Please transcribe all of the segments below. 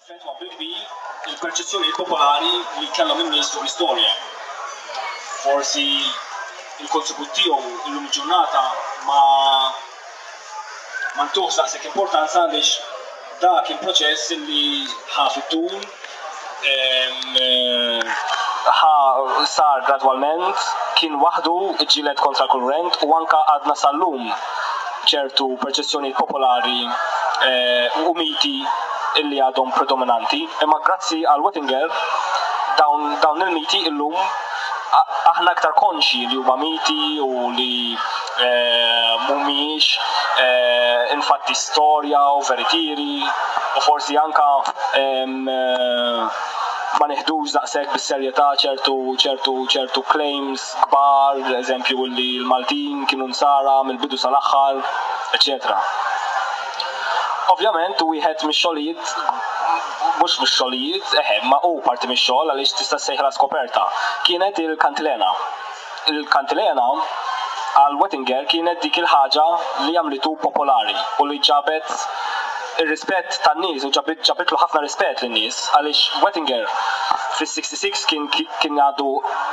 Effettwa bil-kbir il-perċezzjonijiet popolari li kellhom in-nies fuq l-istorja. Forsi l-kontribut tiegħu illum il-ġurnata ma ma ntuhx daqshekk importanza għaliex dak kien proċess li ħa fit-tul, ħa sar gradwalment, kien waħdu, iġġieled kontra l-kurrent u anke għadna sal-lum ċertu perċezzjonijiet popolari u miti illi għadhom predominanti. Imma grazzi għal Wettinger dawn dawn il-miti illum aħna iktar konxji li huma miti u li mhumiex infatti storja u veritieri u forsi anke ma nieħdux daqshekk bis-serjetà ċertu ċertu ċertu claims kbar, eżempju li l-Maltin kienu nsara mill-bidu sal-aħħar, eċċetera. Ovvjament wieħed mix-xogħlijiet mhux mix-xogħlijiet, eħe, ma hu parti mix-xogħol għaliex tista' ssejħilha skoperta, kienet il-kantilena. Il-kantilena għal Wettinger kienet dik il-ħaġa li għamlitu popolari u li ġabet ir-rispett tan-nies u ġabitlu ħafna rispett lin-nies għaliex Wettinger fis-66 kien kien għadu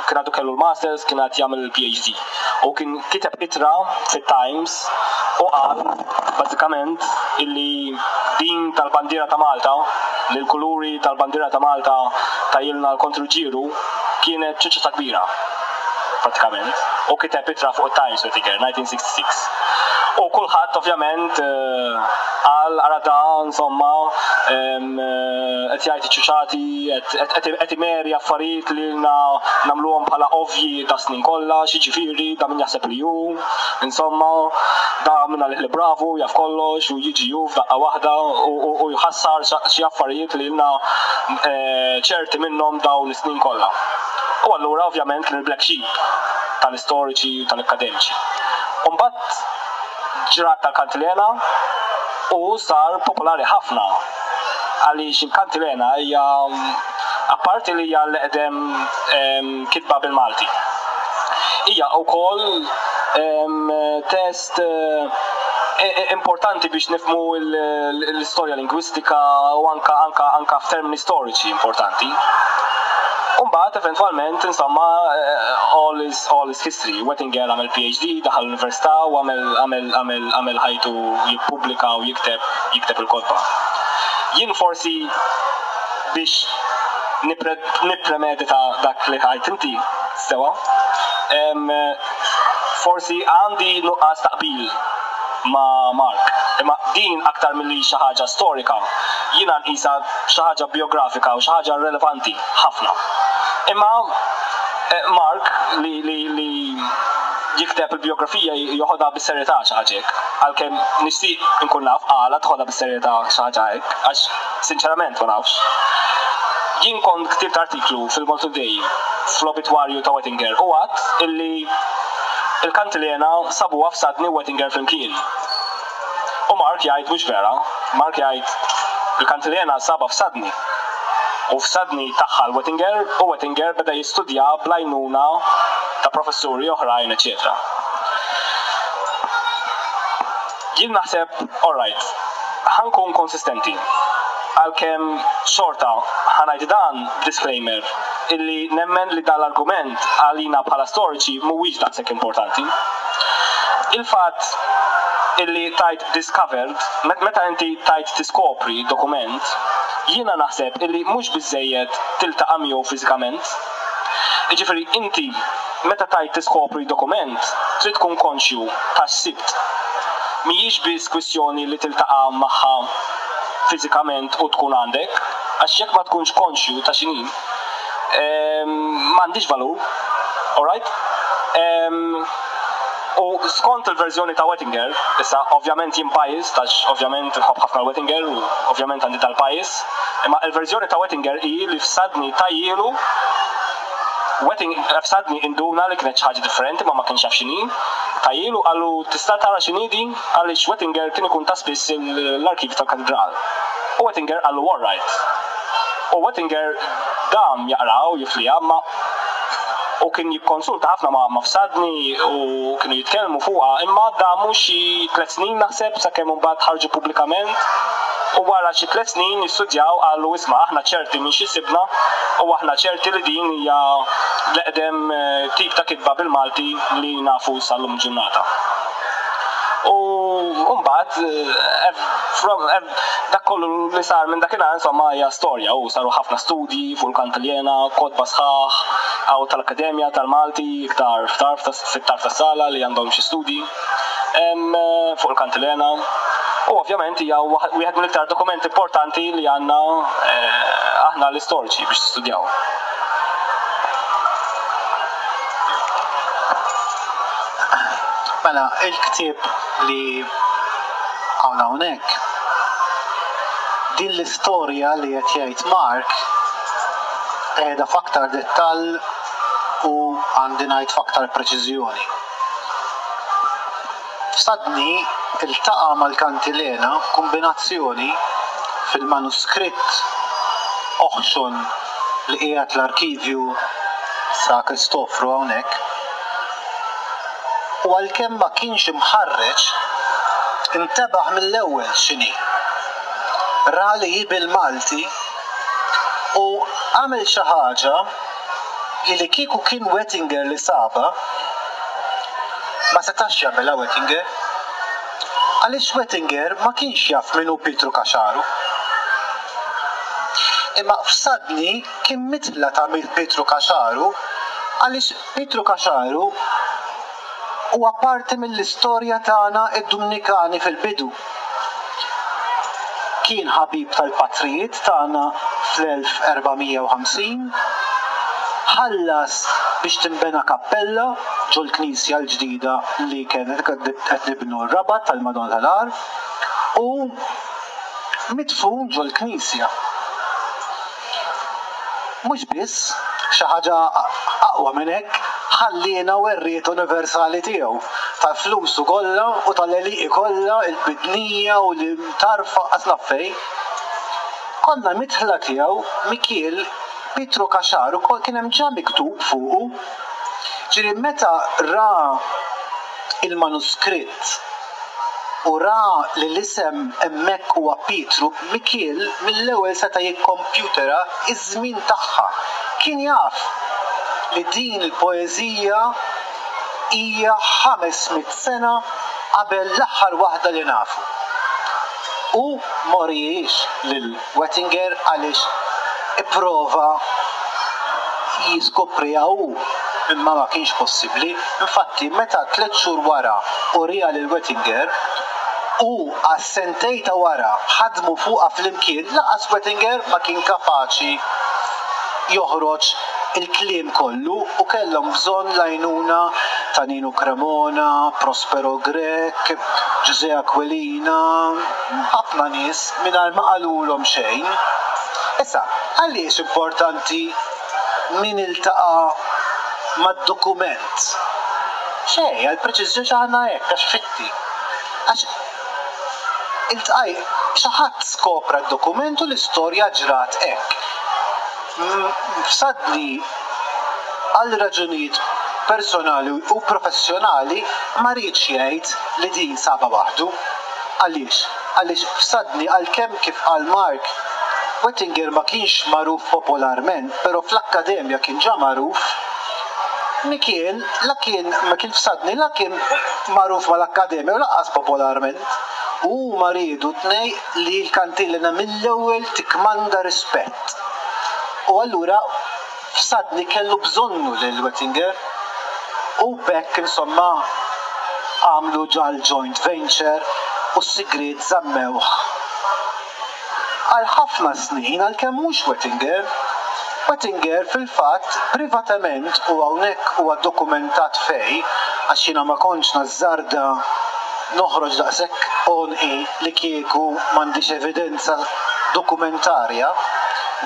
kien għadu kellu l-masters kien għad jagħmel il-PhD u kien kiteb ittra fit-Times u qal bażikament illi din tal-bandiera ta' Malta li l-kuluri tal-bandiera ta' Malta tajjilna l-Konti Ruġġieru kienet ċuċċata kbira prattikament u kiteb ittra fuq it-Times Wettinger 1966. U kulħadd ovvjament qal ara da insomma qed jgħid iċ-ċuċati qed imeri affarijiet li ilna nagħmluhom bħala ovvji da snin kollha, x'jiġifieri da min jaħseb li hu, insomma da min għalih li bravu jaf kollox u jiġi hu f'daqqa waħda u jħassar xi affarijiet li ilna ċerti minnhom dawn is-snin kollha. U allura ovvjament kien il-black sheep tal-istoriċi u tal-akkademiċi. U mbagħad ġrat tal-kantilena u sar popolari ħafna għaliex il-kantilena hija apparti li hija l-eqdem kitba bil-Malti. Hija wkoll test importanti biex nifhmu l-istorja lingwistika u anka anka anka f'termini storiċi importanti. U mbagħad eventwalment insomma all is all is history. Wettinger għamel PhD, daħal l-università u għamel għamel għamel għamel ħajtu jippubblika u jikteb jikteb il-kotba. Jien forsi biex nippremedita dak li għidt inti sewa, forsi għandi nuqqas ta' qbil ma' Mark. Imma din aktar milli xi ħaġa storika, jiena nqisha xi ħaġa bijografika u xi ħaġa relevanti ħafna. Imma Mark li li li jikteb il-bijografija joħodha bis-serjetà xi ħaġa hekk. Għalkemm nixtieq inkun naf għala toħodha bis-serjetà xi ħaġa hekk, għax sinċerament ma nafx. Jien kont ktibt artiklu fil-Maltoday fl-obitwarju ta' Wettinger u għadt illi il-kantilena sabuha f'Sadni u Wettinger flimkien. U Mark jgħid mhux vera. Mark jgħid il-kantilena sabha f'Sadni. U f'Sadni tagħha l-Wettinger u Wettinger beda jistudjaha bl-għajnuna ta' professuri oħrajn eċċetera. Jien naħseb all right, ħa nkun konsistenti, għalkemm xorta ħa ngħid dan b'disclaimer illi nemmen li dan l-argument għalina bħala storiċi mhuwiex daqshekk importanti. Il-fatt illi tgħid discovered, meta inti tgħid tiskopri dokument, jiena naħseb illi mhux biżżejjed tiltaqa' miegħu fiżikament. Jiġifieri inti meta tgħid tiskopri dokument trid tkun konxju ta' x'sibt. Mhijiex biss kwistjoni li tiltaqa' magħha fiżikament u tkun għandek, għax jekk ma tkunx konxju ta' x'inhi, ma għandhiex valur. Alright? U skont il-verżjoni ta' Wettinger, issa ovvjament jien biased għax ovvjament inħobb ħafna l-Wettinger u ovvjament għandi dal-bias, imma il-verżjoni ta' Wettinger hi li f'Sadni tajjielu Wetting f'Sadni induna li kienet xi ħaġa differenti ma ma kienx jaf x'inhi, tajjielu qallu tista' tara x'inhi din għaliex Wettinger kien ikun ta' spiss l-arkivju tal-katidral. U Wettinger qallu all right. U Wettinger dam jaqra u jifliha imma u kien jikkonsulta ħafna ma' Mafsadni u kienu jitkellmu fuqha imma damu xi tlet snin naħseb sakemm imbagħad ħarġu pubblikament. U wara xi tlett snin jistudjaw qalu isma' aħna ċerti minn xi sibna u aħna ċerti li din hija l-eqdem tip ta' kitba bil-Malti li nafu sal-lum il-ġurnata. U mbagħad dak kollu li sar minn dakinhar insomma hija storja u saru ħafna studji fuq il-kantiljena, kotba sħaħ, hawn tal-Akkademja tal-Malti iktar f'tarf fit-tarf tas-sala li għandhom xi studji fuq il-kantilena. U ovvjament hija wieħed mill-iktar dokumenti importanti li għandna aħna l-istoriċi biex nistudjaw. Mela, il-ktieb li hawn hawnhekk, din l-istorja li qed jgħid Mark qiegħda f'aktar dettall u għandi ngħid f'aktar preċiżjoni. F'Sadni ltaqa' mal-kantilena b'kumbinazzjoni fil-manuskritt oħxon li qiegħed l-arkivju sa Kristofru hawnhekk, u għalkemm ma kienx imħarreġ, intebaħ mill-ewwel x'inhi. Ra li hi bil-Malti u għamel xi ħaġa li li kieku kien Wettinger li sabha, ma setax jagħmilha Wettinger. Għaliex Wettinger ma kienx jaf min hu Pietru Caxaru. Imma f'Sadni kien midħla ta' Pietru Caxaru għaliex Pietru Caxaru huwa parti mill-istorja tagħna d-Dumnikani fil-bidu. Kien ħabib tal-patrijiet tagħna fl-1450, ħallas biex tinbena kappella ġol-knisja l-ġdida li kienet qed nibnu r-Rabat tal-Madonna tal-Għar u midfun ġol-knisja. Mhux biss, xi ħaġa aqwa minn hekk, ħalliena werriet universali tiegħu, ta' flusu kollha u tal-għelieqi kollha, il-bidnija u l-imtarfa qas naf fejn. Konna midħla tiegħu, Mikiel, Pietru Caxar ukoll kien hemm ġa miktub fuqu. Ġifieri meta ra il-manuskritt, u ra li l-isem hemmhekk huwa Pietru, Mikiel mill-ewwel seta' jikkompjutera ż-żmien tagħha. Kien jaf li din il-poeżija hija 500 sena qabel l-aħħar waħda li nafu. U ma wrihiex lil Wettinger għaliex ipprova jiskopriha hu imma ma kienx possibbli. Infatti meta tlett xhur wara uriha lil Wettinger u għas-sentejn ta' wara ħadmu fuqha flimkien, lanqas Wettinger ma kien kapaċi joħroġ il-kliem kollu u kellhom bżonn l-għajnuna ta' Ninu Cremona, Prospero Grech, Ġużè Aquilina, ħafna nies mingħajr ma qalulhom xejn. Issa, għaliex importanti min iltaqa' mad-dokument? Xejn, għall-preċiżjoni aħna hekk għax fitti. Għax iltqaj xi ħadd skopra d-dokument u l-istorja ġrat hekk. F'Sadni għal raġunijiet personali u professjonali ma riedx jgħid li din sabha waħdu. Għaliex? Għaliex f'Sadni għalkemm kif qal Mark, Wettinger ma kienx magħruf popolarment, però fl-akkademja kien ġa magħruf, Mikiel la kien Mikiel f'Sadni la kien magħruf mal-akkademja u lanqas popolarment. U huma riedu t-tnejn li l-kantilena mill-ewwel tikkmanda rispett. U allura F'Sadni kellu bżonnu lil Wettinger u b'hekk insomma għamlu ġa l-joint venture u s-sigriet żammewh għal ħafna snin għalkemm mhux Wettinger. Wettinger fil-fatt privatament u hawnhekk huwa dokumentat fej għax jiena ma kontx nażżarda noħroġ daqshekk għonqi li kieku m'għandix evidenza dokumentarja,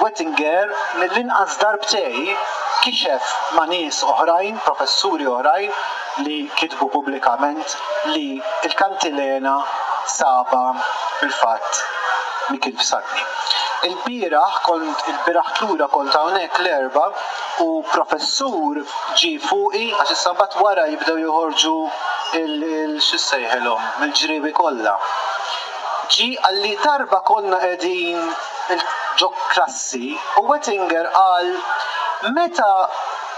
Wettinger mill-inqas darbtej kixef ma' nies oħrajn, professuri oħrajn li kitbu pubblikament li l-kantilena sabha fil-fatt Mikiel Fsadni. Ilbieraħ kont, ilbieraħ lura kont hawnhekk l-Erbgħa u professur ġie fuqi għax issa mbagħad wara jibdew joħorġu il x'issejħilhom, il-ġriewi kollha. Ġie qalli darba konna qegħdin ġo klassi u Wettinger qal meta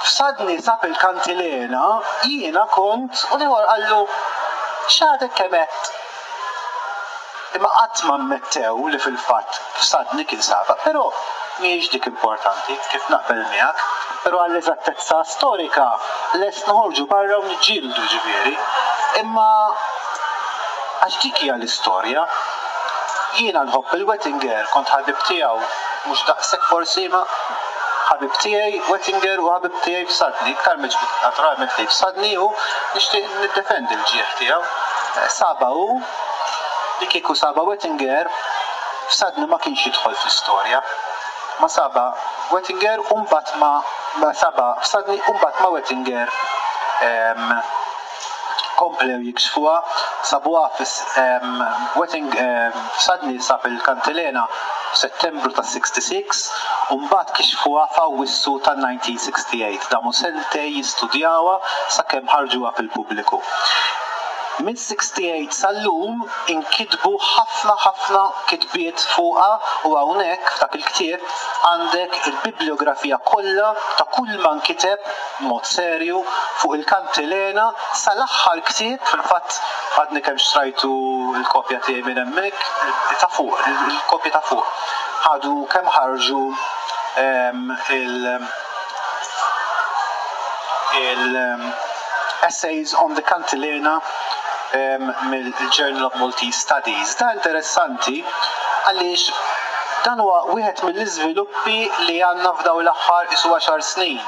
Fsadni sab il-kantilena jiena kont u l-ieħor qallu x'għadek kemm għedt? Imma qatt ma ammettew li fil-fatt Fsadni kien sabha. Però mhijiex dik importanti, kif naqbel miegħek, però għall-eżattezza storika lest noħorġu barra u niġġieldu ġifieri. Imma għax dik hija l-istorja. Jiena nħobb il-Wettinger, kont ħabib tiegħu, mhux daqshekk forsi imma ħabib tiegħi Wettinger u ħabib tiegħi Fsadni, iktar miġbud naturalment lejn Fsadni u nixtieq niddefendi l-ġieħ tiegħu. Sabha hu, li kieku sabha Wettinger, Fsadni ma kienx jidħol fl-istorja. Ma sabha Wettinger u mbagħad ma ma sabha Fsadni u mbagħad ma Wettinger komplew jikxfuha, sabuha Wetting Fsadni sab il-kantilena f'Settembru tas-66 u mbagħad kixfuha f'Awwissu tan-1968. Damu sentejn jistudjawha sakemm ħarġuha fil-pubbliku. Mis-68 sal-lum inkitbu ħafna ħafna kitbiet fuqha u hawnhekk f'dak il-ktieb għandek il-bibliografija kollha ta' kulma nkiteb b'mod serju fuq il-kantilena sal-aħħar ktieb, fil-fatt għadni kemm xtrajtu l-kopja tiegħi minn hemmhekk, ta' fuq, il-kopja ta' fuq. Ħadu kemm ħarġu il- il Essays on the Cantilena mill-Journal of Maltese Studies. Da interessanti għaliex dan huwa wieħed mill-iżviluppi li għandna f'dawn l-aħħar qisu għaxar snin.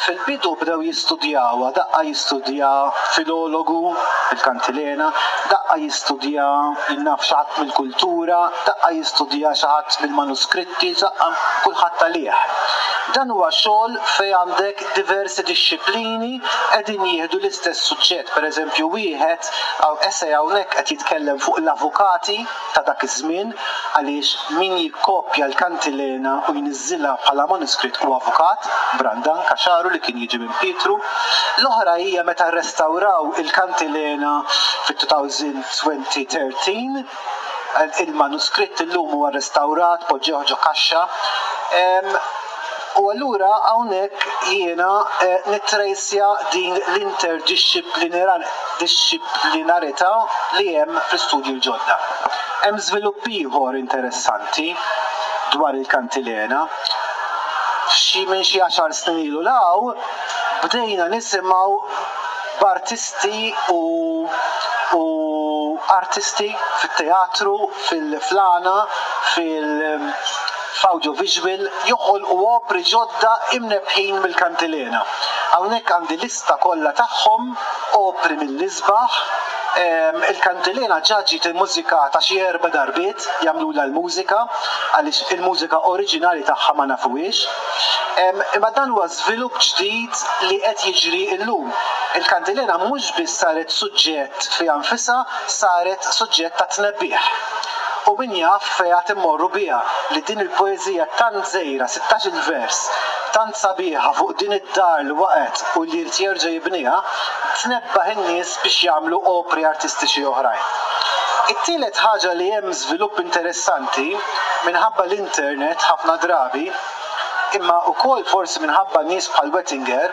Fil-bidu bdew jistudjawha, daqqa jistudja filologu, il-kantilena, daqqa jistudja jien naf xi ħadd mill-kultura, daqqa jistudja xi ħadd mill-manuskritti, daqqa kulħadd għalih. Dan huwa xogħol fejn għandek diversi dixxiplini qegħdin jieħdu l-istess suġġett. Pereżempju wieħed essay hawnhekk qed jitkellem fuq l-avukati ta' dak iż-żmien għaliex min jikkopja l-kantilena u jniżżilha bħala manuskritt hu avukat, Brandan Caxaru li kien jiġi minn Pietru. L-oħra hija meta rrestawraw il-kantilena fit-2013, il-manuskritt illum huwa rrestawrat, poġġewh ġo kaxxa. U allura hawnhekk jiena nittrejsja din l-interdixxiplinarità li hemm fl-istudji l-ġodda. Hemm żvilupp ieħor interessanti dwar il-kantilena. Xi minn xi għaxar snin ilu 'l hawn bdejna nisimgħu b'artisti u u artisti fit-teatru, fil-għana, fil f'audiovisual joħolqu opri ġodda imnebbħin mill-kantilena. Hawnhekk għandi lista kollha tagħhom, opri mill-isbaħ. Il-kantilena ġa ġiet immużikata xi erba' darbiet, jagħmlulha l-mużika, għaliex il-mużika oriġinali tagħha ma nafuhiex. Imma dan huwa żvilupp ġdid li qed jiġri llum. Il-kantilena mhux biss saret suġġett fiha nfisha, saret suġġett ta' tnebbiħ. U min jaf fejn għad immorru biha li din il-poeżija tant żgħira, sittax-il vers, tant sabiħa fuq din id-dar li waqgħet u li jrid jerġa' jibniha, tnebbaħ in-nies biex jagħmlu opri artistiċi oħrajn. It-tielet ħaġa li hemm żvilupp interessanti, minħabba l-internet ħafna drabi, imma wkoll forsi minħabba nies bħal Wettinger,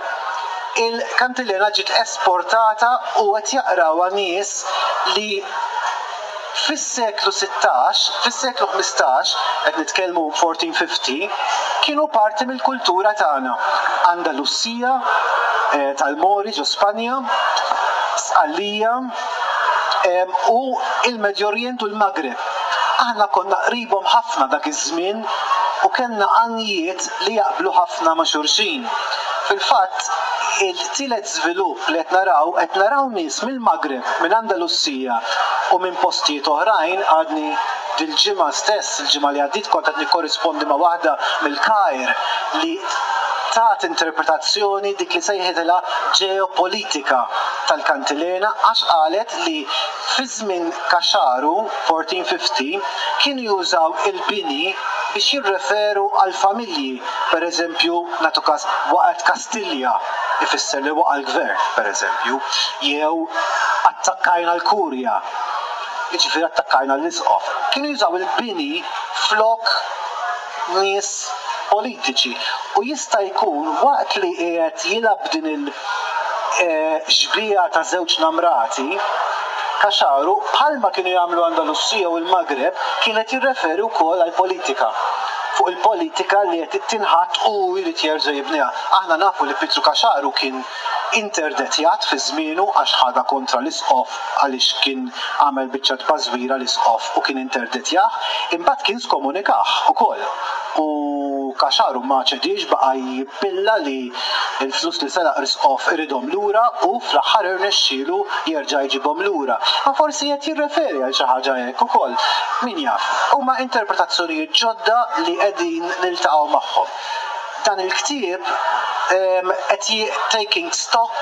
il-kantilena ġiet esportata u qed jaqrawha nies li Fis-seklu 16, fis-seklu 15, qed nitkellmu 1450, kienu parti mill-kultura tagħna. Andalusija, tal-Mori ġo Spanja, Sqallija, u l-Medju Orjent u l-Maghreb. Aħna konna qribhom ħafna dak iż-żmien u kellna għanjiet li jaqblu ħafna ma' xulxin. Fil-fatt, il-tielet żvilupp li qed naraw, qed naraw nies mill-Maghreb, minn Andalusija u minn postijiet oħrajn, għadni dil-ġimgħa stess, il-ġimgħa li għaddiet kont qed nikkorrispondi ma' waħda mill-Kajr li tat interpretazzjoni dik li sejħitilha ġeopolitika tal-kantilena għax qalet li fi żmien Caxaru, 1450, kienu jużaw il-bini biex jirreferu għall-familji, pereżempju, nagħtu każ, waqgħet Kastilja, ifisser li waqa' l-gvern, pereżempju, jew attakkajna l-Kurja. Jiġifieri attakkajna l-isqof. Kienu jużaw il-bini flok nies politiċi. U jista' jkun waqt li qiegħed jilgħab din il-xbieha ta' żewġ namrati, Caxaru, bħalma kienu jagħmlu Andalusija u l-Maghreb, kien qed jirreferi wkoll għall-politika. Fuq il-politika li qed tinħatt u hu jrid jerġa' jibniha. Aħna nafu li Pietru Caxaru kien interdettjat fi żmienu għax ħadha kontra l-isqof għaliex kien għamel biċċa tbażwira l-isqof u kien interdettjah, imbagħad kien skomunikah ukoll u Caxaru ma ċediex baqa' jippilla li l-flus li seraq l-isqof iridhom lura u fl-aħħar irnexxielu jerġa' jġibhom lura. Ma forsi qed jirreferi għal xi ħaġa hekk ukoll, min jaf. Huma interpretazzjonijiet ġodda li qegħdin niltaqgħu magħhom. Dan il-ktieb qed taking stock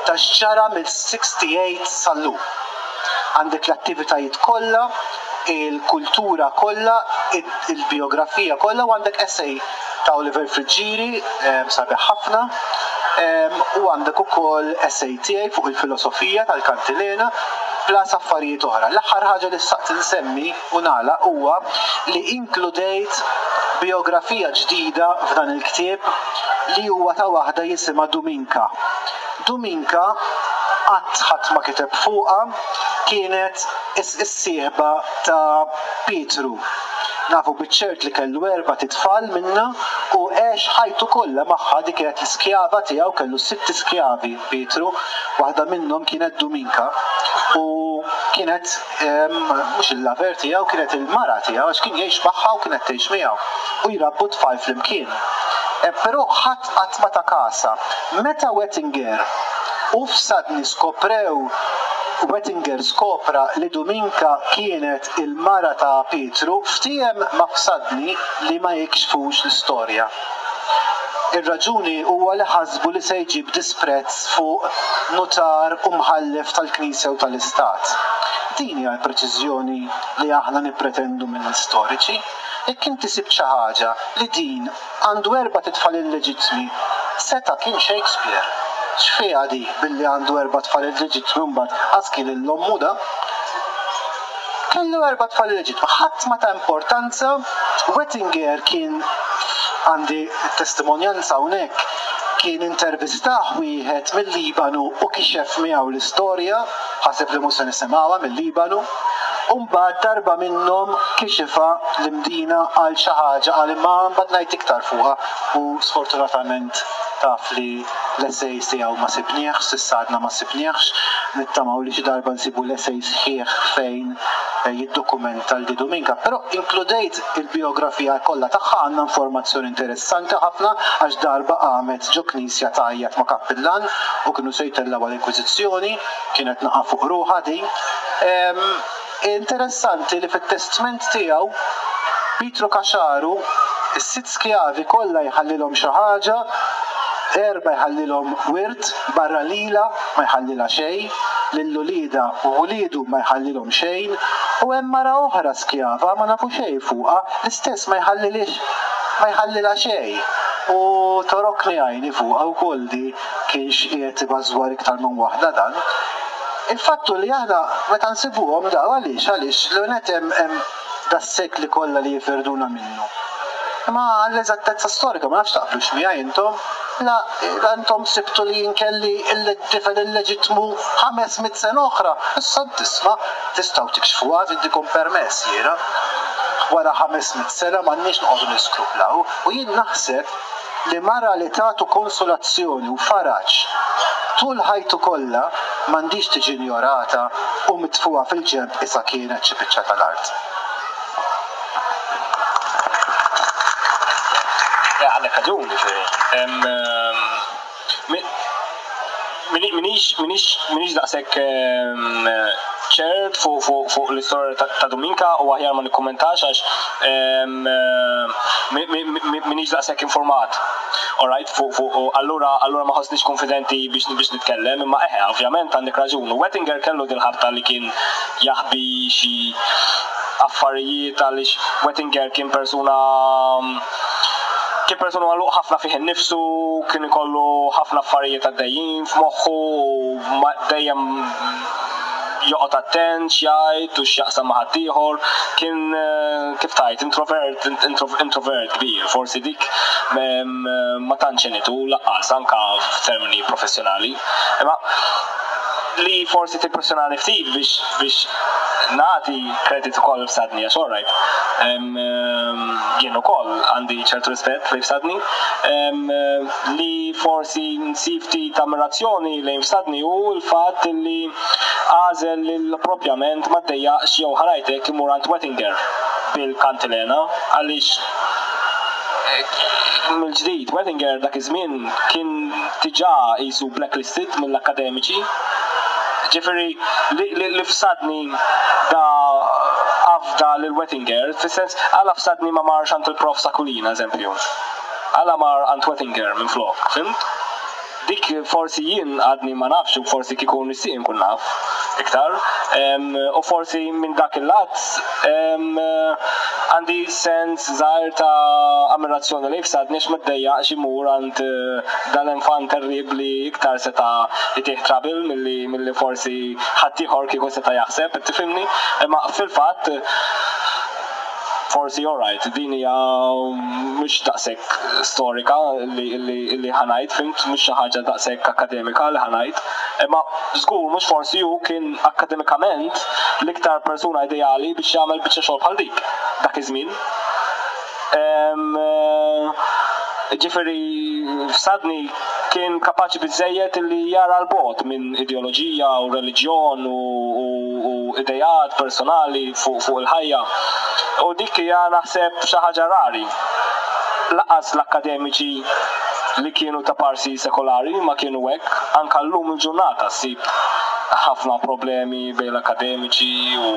ta' x'ġara mill-68 sal-lum. Għandek l-attivitajiet kollha, il-kultura kollha, il-bijografija kollha u għandek essay ta' Oliver Friggieri sabiħ ħafna u għandek ukoll essay tiegħi fuq il-filosofija tal-Kantilena plus affarijiet oħra. L-aħħar ħaġa li xtaqt insemmi u nagħlaq huwa li inkludejt bijografija ġdida f'dan il-ktieb li huwa ta' waħda jisimha Duminka. Duminka qatt ħadd ma kiteb fuqha, kienet is-sieħba ta' Pietru. Nafu biċ-ċert li kellu erbat itfal minnha u għex ħajtu kollha magħha, dik kienet l-iskjava tiegħu, kellu sitt iskjavi Pietru, waħda minnhom kienet Duminka u kienet mhux il-lover tiegħu, kienet il-mara tiegħu għax kien jgħix magħha u kienet tgħix miegħu u jrabbu t-tfal flimkien. Però ħadd qatt ma ta kasha. Meta Wettinger u Fsadni skoprew Wettinger skopra li Duminka kienet il-mara ta' Pietru, ftiehem ma' Fsadni li ma jikxfux l-istorja. Ir-raġuni huwa li ħasbu li se jġib disprezz fuq nutar u mħallef tal-Knisja u tal-Istat. Din hija l-preċiżjoni li aħna nippretendu mill-istoriċi. Jekk inti sibt xi ħaġa li din għandu erbat itfal illeġittmi, seta' kien Shakespeare. X'fiha di billi għandu erba' tfal illeġittmi u mbagħad qas kien lil ommu da? Kellu erba' tfal illeġittmi. Ħadd ma ta importanza. Wettinger kien, għandi t-testimonjanza hawnhekk, kien intervistah wieħed mil-Libanu u kixef miegħu l-istorja, ħaseb li mhux se nisimgħuha mil-Libanu. U mbagħad darba minnhom kixifha l-Imdina għal xi ħaġa qal imma mbagħad ngħid iktar fuqha u sfortunatament taf li l-essay tiegħu ma sibniehx, s'issa għadna ma sibniehx. Nittamaw li xi darba nsibu l-essay sħiħ fejn jiddokumenta l Dominka. Però inkludejt il-bijografija kollha tagħha, għandna informazzjoni interessanti ħafna għax darba qamet ġo knisja tgħajjat ma' kappillan u kienu se jtellgħuha l-Inkwiżizzjoni, kienet naqa' fuq ruħha din. Interessanti li fit-testment tiegħu Pietru Caxaru is-sitt skjavi kollha jħallilhom xi ħaġa, erbgħa jħallilhom wirt, barra lilha ma jħallilha xejn, lil uliedha u wliedu ma jħallilhom xejn, u hemm mara oħra skjava ma nafu xejn fuqha, l-istess ma jħallilhiex ma jħallilha xejn. U torokni għajni fuqha wkoll di kienx qiegħed ibażwar iktar minn waħda dan. Il-fatt hu li aħna meta nsibuhom daw għaliex? Għaliex l-ewwel nett hemm hemm das-sekli kollha li jifirduna minnu. Imma għall-eżattezza storika ma nafx taqblux miegħi intom, la la intom sibtu li jien kelli tifel illeġittmu 500 sena oħra, issa tisma' tistgħu tikxfuha intikom permess jiena. Wara 500 sena m'għandniex noqogħdu niskruplaw u jien naħseb li mara li tatu konsolazzjoni u faraġ tul ħajtu kollha m'għandhiex tiġi injorata u mitfugħa fil-ġenb qisha kienet xi biċċa tal-art. Għandek raġun, ġifieri. Minix, minix, minix daqshekk ċert fuq fuq fuq l-istorja ta' Dominka u aħjar ma nikkummentax għax minix daqshekk informat. Alright, fuq fuq allura allura ma ħossnix konfidenti biex biex nitkellem, imma eħe, ovvjament għandek raġun. U Wettinger kellu dil-ħabta li kien jaħbi xi affarijiet għaliex Wettinger kien persuna Kien persuna magħluq ħafna fih innifsu, kien ikollu ħafna affarijiet għaddejjin f'moħħu u dejjem joqgħod attent x'jgħid u x'jaqsam ma' ħaddieħor, kien kif tgħid introvert introvert kbir, forsi dik ma tantx għenitu lanqas anke f'termini professjonali. Imma li forsi timpressjonani ftit biex biex nagħti credit ukoll f'Sadni għax alright jien ukoll għandi ċertu rispett lejn Fsadni li forsi nsib ftit ammirazzjoni lejn Fsadni hu l-fatt li għażel li propjament ma ddejjaqx jew ħa ngħid hekk imur għand Wettinger bil-kantilena għaliex mill-ġdid Wettinger dak iż-żmien kien diġà qisu blacklisted mill-akkademiċi. Ġifieri li Fsadni da afda lil Wettinger, fis-sens għala Fsadni ma marx għand il-Prof Sakulina eżempju? Għala mar għand Wettinger minflok, fhimt? Dik forsi jien għadni ma nafx u forsi kieku nixtieq inkun naf iktar. U forsi minn dak il-lat għandi sens żgħir ta' ammirazzjoni lejn Fsadni għax ma ddejjaqx imur għand dal-enfant terribbli iktar seta' jtih trouble milli milli forsi ħaddieħor kieku seta' jaħseb, qed tifhimni? Imma fil-fatt forsi alright, din hija mhux daqshekk storika li li li ħa ngħid, fhimt, mhux xi ħaġa daqshekk akkademika li ħa ngħid, imma żgur mhux forsi hu kien akkademikament l-iktar persuna ideali biex jagħmel biċċa xogħol bħal dik dak iż-żmien. Ġifieri Fsadni kien kapaċi biżżejjed li jara 'l bogħod minn ideoloġija u reliġjon u ideat personali fuq il-ħajja. U dik hija naħseb xi ħaġa rari. Lanqas l-akkademiċi li kienu ta' parsi sekolari ma kienu hekk, anke llum il-ġurnata ssib ħafna problemi bejn l-akkademiċi u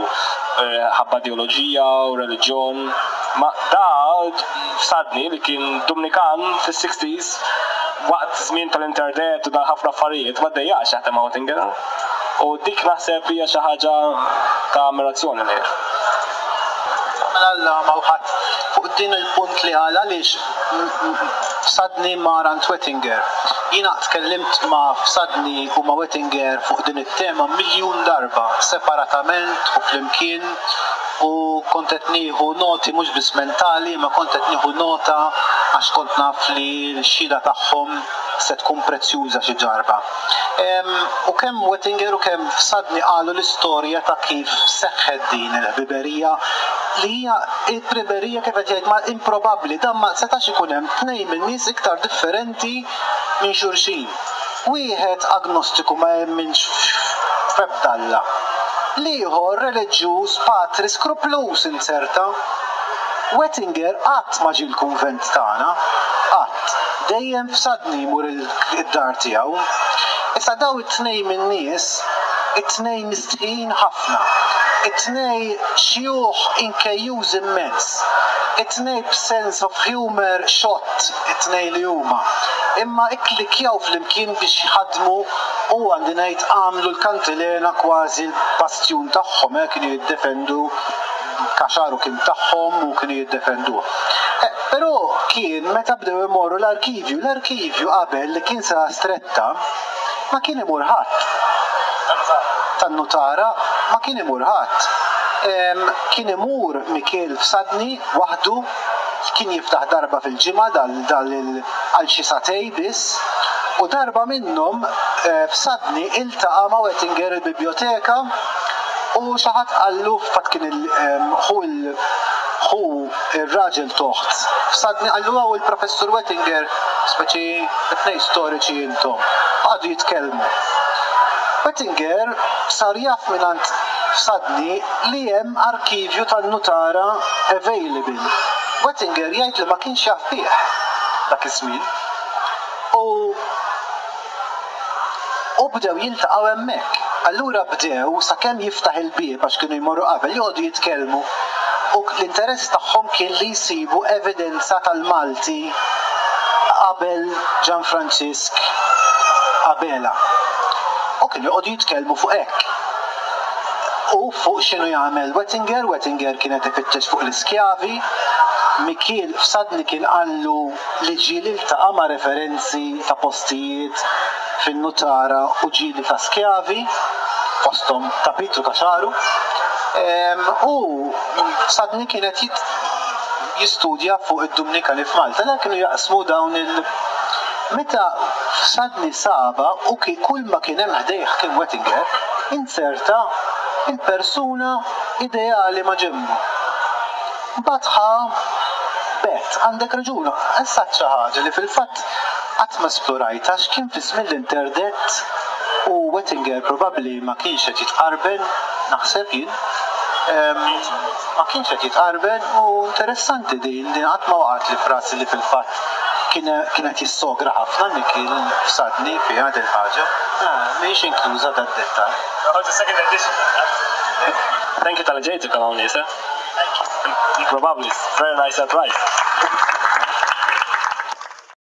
ħabba ideoloġija u reliġjon. Ma da Fsadni li kien Dumnikan fis-sixties waqt żmien tal-internet u dal-ħafna affarijiet ma ddejjaqx jaħdem ma' Oettinger. U dik naħseb hija xi ħaġa ta' ammirazzjoni lejh. Mela Alla ma hu ħadd fuq din il-punt li qal għaliex Fsadni mar għand Wettinger. Jiena tkellimt ma' Fsadni u ma' Wettinger fuq din it-tema miljun darba, separatament u flimkien, u kont qed nieħu noti mhux biss mentali imma kont qed nieħu nota għax kont naf li l-xhieda tagħhom se tkun prezzjuża xi ġarba. U kemm Wettinger u kemm Fsadni qalu l-istorja ta' kif seħħet din il-ħbiberija li hija ħbiberija kif qed jgħid ma improbabbli, dan ma setax ikun hemm tnejn min-nies iktar differenti minn xulxin. Wieħed agnostiku ma jemminx f'ebda Alla. L-ieħor reliġjuż patri skrupluż inzerta. Wettinger qatt ma ġie l-kunvent tagħna. Qatt. Dejjem f'Sadni jmur id-dar tiegħu. Issa dawn it-tnejn min-nies, it-tnejn mistħijin ħafna. It-tnej xjuħ inkejjużi immens. It-tnej b'sense of humour xott it-tnejn li huma. Imma ikklikkjaw flimkien biex jħaddmu u għandi ngħid għamlu l-kantilena kważi l-bastjun tagħhom, eh, kienu jiddefendu Kaxaru kien tagħhom u kienu jiddefenduh. Eh, però kien meta bdew imorru l-arkivju, l-arkivju qabel li kien sala stretta ma kien imur ħadd. Tan-nutara ma kien imur ħadd. Kien imur Mikiel Fsadni waħdu, kien jiftaħ darba fil-ġimgħa dal għal xi sagħtej biss, u darba minnhom Fsadni iltaqa' ma' Wettinger il-bibjoteka u xi ħadd qallu, f'fatt kien il ħu il ħu ir-raġel t'oħt Fsadni, qallu hawn il-Professur Wettinger, speċi it-tnejn storiċi intom. Qagħdu jitkellmu. Wettinger sar jaf mingħand Fsadni li hemm arkivju tan-nutara available. Wettinger jgħid li ma kienx jaf bih dak iż-żmien. U u bdew jiltaqgħu hemmhekk. Allura bdew sakemm jiftaħ il-bieb għax kienu jmorru qabel joqogħdu jitkellmu u l-interess tagħhom kien li jsibu evidenza tal-Malti qabel Ġan Franġisk Abela. U kienu joqogħdu jitkellmu fuq hekk. U fuq x'inhu jagħmel Wettinger, Wettinger kien qed ifittex fuq l-iskjavi, Mikiel Fsadni kien qallu li ġieli ltaqa' ma' referenzi ta' postijiet fin-nutara u ġieli ta' skjavi. fosthom ta' Pietru Caxaru, u Fsadni kien qed jistudja fuq id-Dumnikani f'Malta, dan kienu jaqsmu dawn il- Meta Fsadni sabha u kull ma kien hemm ħdejh kien Wettinger, inzerta il-persuna ideali ma' ġenbu. Mbagħad ħa bet, għandek raġun, issa għedt xi ħaġa li fil-fatt qatt ma esplorajtha għax kien fi żmien l-interdett u Wettinger probabbli ma kienx qed jitqarben, naħseb jien, ma kienx qed jitqarben u interessanti din, din qatt ma waqgħetli f'rasi li fil-fatt kien kien qed jissogra ħafna Mikiel Fsadni fiha din il-ħaġa. Mhijiex inkluża dad-dettall. Oh, the second edition. Thank you tal-li ġejtu kanon nisa. Probably, very nice surprise.